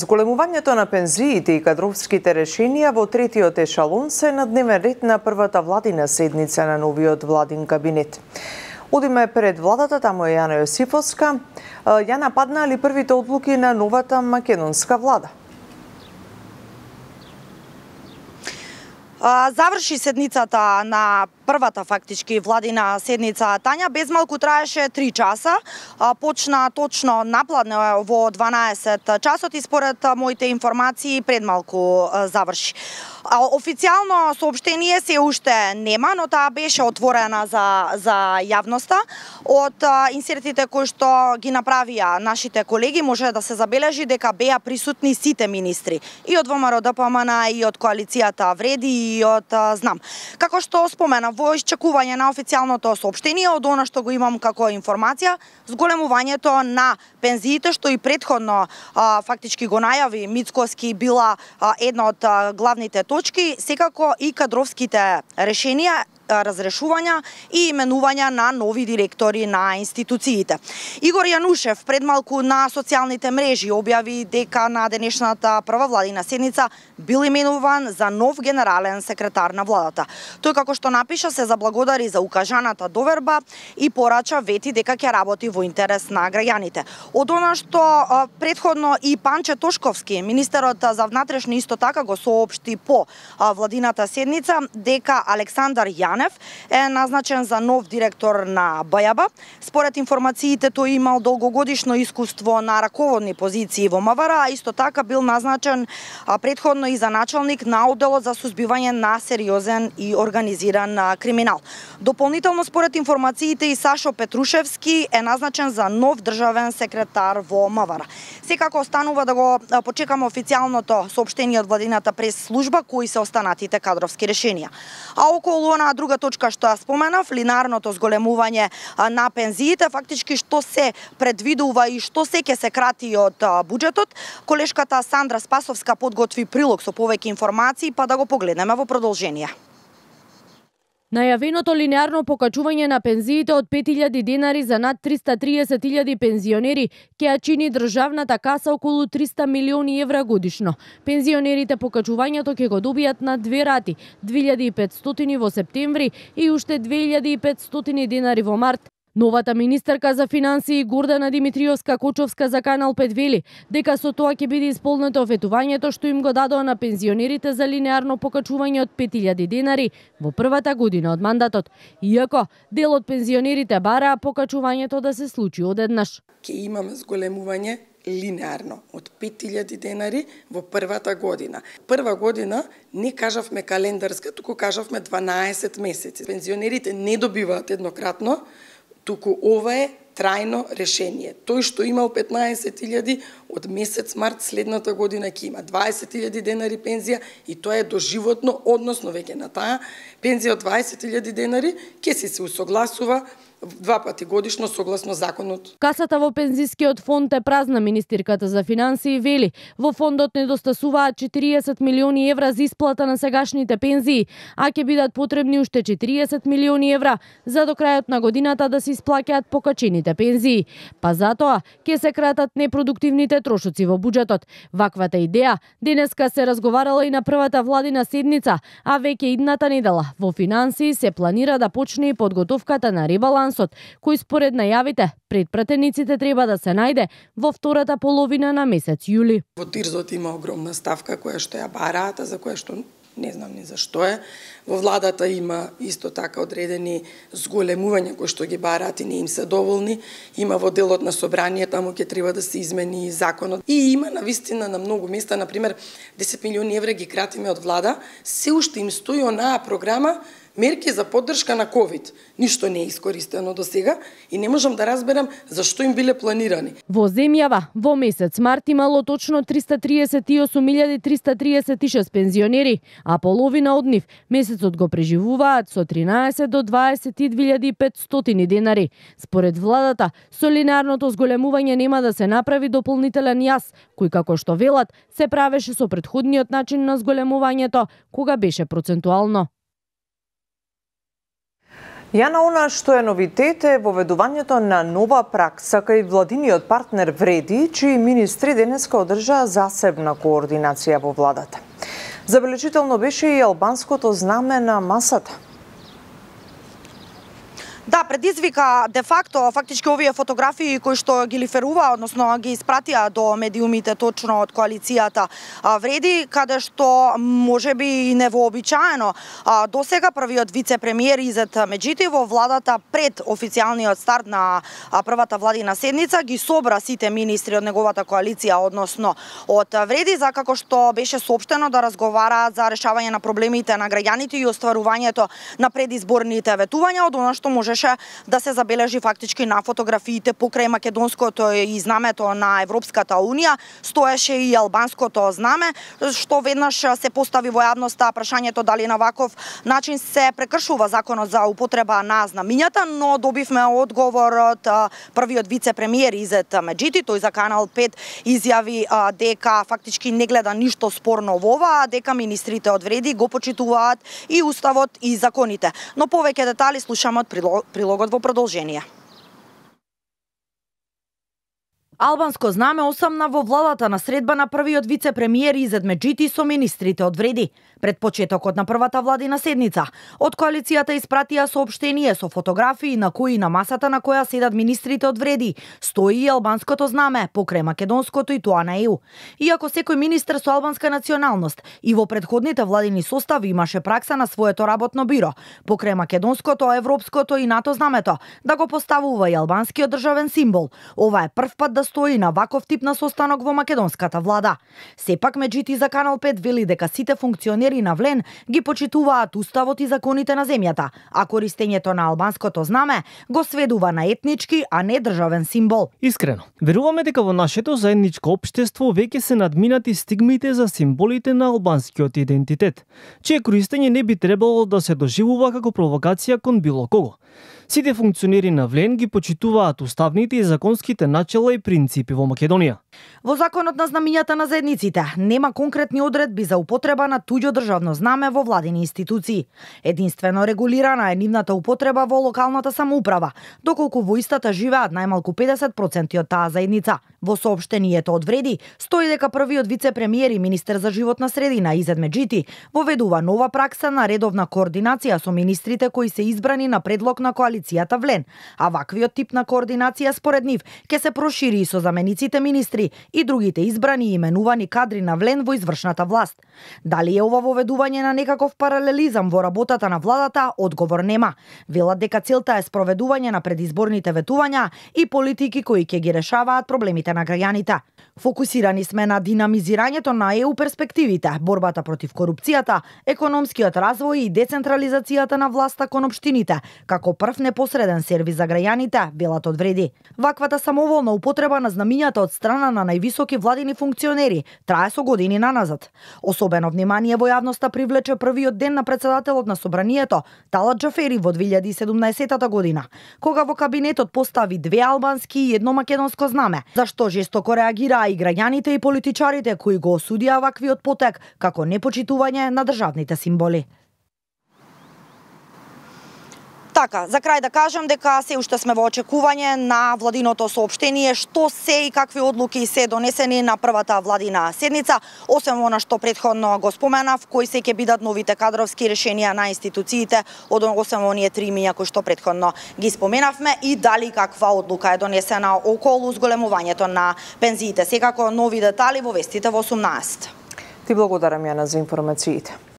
Зголемувањето на пензиите и кадровските решенија во третиот ешалон се на дневен ред на првата владина седница на новиот владин кабинет. Одиме пред владата, таму е Јана Јосифовска. Јана, паднаа ли првите одлуки на новата македонска влада? Заврши седницата на првата фактички владина седница Тања. Без малку траеше 3 часа. Почна точно напладне во 12 часот и според моите информации пред малку заврши. Официјално соопштение се уште нема, но таа беше отворена за јавноста. Од инсертите кои што ги направија нашите колеги може да се забележи дека беа присутни сите министри и од ВМРО ДПМН и од коалицијата Вреди и од Знам. Како што спомена, во исчекување на официјалното соопштение, од она што го имам како информација, зголемувањето на пензиите, што и претходно фактички го најави Мицкоски, била една од главните точки, секако и кадровските решенија, разрешувања и именувања на нови директори на институциите. Игор Јанушев пред малку на социјалните мрежи објави дека на денешната прва владина седница бил именуван за нов генерален секретар на владата. Тој, како што напиша, се заблагодари за укажаната доверба и порача вети дека ќе работи во интерес на граѓаните. Од она што претходно и Панче Тошковски, министерот за внатрешни, исто така го соопшти по владината седница дека Александар Јанев е назначен за нов директор на БЈБ. Според информациите, тој имал долгогодишно искуство на раководни позиции во МВР, а исто така бил назначен претходно и за началник на одделот за сузбивање на сериозен и организиран криминал. Дополнително, според информациите, и Сашо Петрушевски е назначен за нов државен секретар во МВР. Секако останува да го почекаме официјалното соопштение од владината прес-служба кои се останатите кадровски решенија. А околу она друга точка што ја споменав, линарното зголемување на пензиите, фактички што се предвидува и што се ќе се крати од буџетот, колешката Сандра Спасовска подготви прилог со повеќе информации, па да го погледнеме во продолжение. Најавеното линеарно покачување на пензиите од 5000 денари за над 330.000 пензионери ќе ја чини државната каса околу 300 милиони евра годишно. Пензионерите покачувањето ќе го добијат на 2 рати, 2500 во септември и уште 2500 денари во март. Новата министерка за финансии Гордана Димитриевска-Кочовска за Канал 5 вели дека со тоа ќе биде исполнето офетувањето што им го дадоа на пензионерите за линеарно покачување од 5000 денари во првата година од мандатот, иако дел од пензионерите бараа покачувањето да се случи одеднаш. Ќе имаме зголемување линеарно од 5000 денари во првата година. Прва година не кажавме календарска, туку кажавме 12 месеци. Пензионерите не добиваат еднократно, туку ова е трајно решение. Тој што имал 15.000 од месец март следната година ќе има 20.000 денари пензија и тоа е доживотно, односно веќе на таа пензија од 20.000 денари ќе се усогласува 2 пати годишно согласно законот. Касата во пензискиот фонд е празна, министерката за финансии вели. Во фондот недостасуваат 40 милиони евра за исплата на сегашните пензии, а ќе бидат потребни уште 40 милиони евра за до крајот на годината да се исплаќаат покачените пензии. Па затоа ќе се кратат непродуктивните трошоци во буџетот. Ваквата идеја денеска се разговарала и на првата владина седница, а веќе идната недела во финансии се планира да почне и подготовката на ребаланс кој според најавите пред пратениците треба да се најде во втората половина на месец јули. Во ТИРЗот има огромна ставка која што ја бараат, за која што не знам ни зашто е. Во владата има исто така одредени зголемувања кои што ги бараат и не им се доволни. Има во делот на собрание, таму ќе треба да се измени законот. И има навистина на многу места, например 10 милиони евра ги кратиме од влада, се уште им стои онаа програма мерки за поддршка на ковид. Ништо не е искористено до сега и не можам да разберам зашто им биле планирани. Во земјава во месец март имало точно 338.336 пензионери, а половина од нив месецот го преживуваат со 13 до 22.500 денари. Според владата, со линеарното зголемување нема да се направи дополнителен јас, кој како што велат се правеше со претходниот начин на зголемувањето, кога беше процентуално. Јана, она што е новитет е воведувањето на нова пракса кај владиниот партнер Вреди, чии министри денеска одржаа засебна координација во владата. Забележително беше и албанското знаме на масата. Да, предизвика де факто фактички овие фотографии кои што ги лиферува, односно ги испратија до медиумите точно од коалицијата Вреди, каде што можеби и невообичаено досега првиот вице-премиер Изет Меджити во владата пред официјалниот старт на првата владина седница ги собра сите министри од неговата коалиција, односно од Вреди, за како што беше соопштено да разговараат за решавање на проблемите на граѓаните и остварувањето на предизборните ветувања, од она што можеше да се забележи фактички на фотографиите покрај македонското и знамето на Европската Унија, стоеше и албанското знаме, што веднаш се постави во јавноста прашањето дали на ваков начин се прекршува законот за употреба на знамињата, но добивме одговор од првиот вице-премиер Изет Меджити. Тој за Канал 5 изјави дека фактички не гледа ништо спорно во ова, а дека министрите од Вреди го почитуваат и уставот и законите. Но повеќе детали слушаме од прилогот во продолжение. Албанско знаме осамна во владата на средба на првиот вице-премиер Изет Меджити со министрите од Вреди. Пред почетокот на првата владина седница, од коалицијата испратија соопштение со фотографии на кои на масата на која седат министрите од Вреди стои и албанското знаме покрај македонското и тоа на ЕУ. Иако секој министер со албанска националност и во претходните владини состави имаше пракса на своето работно биро, покрај македонското, европското и НАТО знамето, да го поставува и албанскиот државен символ. Ова е прв пат да стои на ваков тип на состанок во македонската влада. Сепак Меджити за Канал 5 вели дека сите функционери на Влен ги почитуваат уставот и законите на земјата, а користењето на албанското знаме го сведува на етнички, а не државен символ. Искрено, веруваме дека во нашето заедничко општество веќе се надминати стигмите за символите на албанскиот идентитет, чие користење не би требало да се доживува како провокација кон било кого. Сите функционери на Влен ги почитуваат уставните и законските начела и принципи во Македонија. Во законот на знамињата на заедниците нема конкретни одредби за употреба на туѓо државно знаме во владини институции. Единствено регулирана е нивната употреба во локалната самоуправа, доколку во истата живеат најмалку 50% од таа заедница. Во соопштението од Вреди стои дека првиот вице-премиер и министер за животна средина Изет Меджити воведува нова пракса на редовна координација со министрите кои се избрани на предлог на коалицијата Влен, а ваквиот тип на координација според нив ќе се прошири и со замениците министри и другите избрани и именувани кадри на Влен во извршната власт. Дали е ова воведување на некаков паралелизам во работата на владата, одговор нема. Велат дека целта е спроведување на предизборните ветувања и политики кои ќе ги решаваат проблемите на граѓаните. Фокусирани сме на динамизирањето на ЕУ перспективите, борбата против корупцијата, економскиот развој и децентрализацијата на власта кон општините, како прв непосреден сервис за граѓаните, велат од Вреди. Ваквата самоволна употреба на знамињата од страна на највисоки владини функционери трае со години наназад. Особено внимание во јавноста привлече првиот ден на председателот на собранието, Талат Џафери во 2017 година, кога во кабинетот постави 2 албански и 1 македонско знаме, зашто жестоко реагираа и граѓаните и политичарите кои го осудија ваквиот потек како непочитување на државните символи. Така, за крај да кажам дека се уште сме во очекување на владиното соопштение што се и какви одлуки се донесени на првата владина седница, освен она што претходно го споменав, кои се ќе бидат новите кадровски решенија на институциите, освен оние 3 имиња кои што претходно ги споменавме, и дали каква одлука е донесена околу зголемувањето на пензиите. Секако нови детали во вестите во 18. Ти благодарам, Јана, за информациите.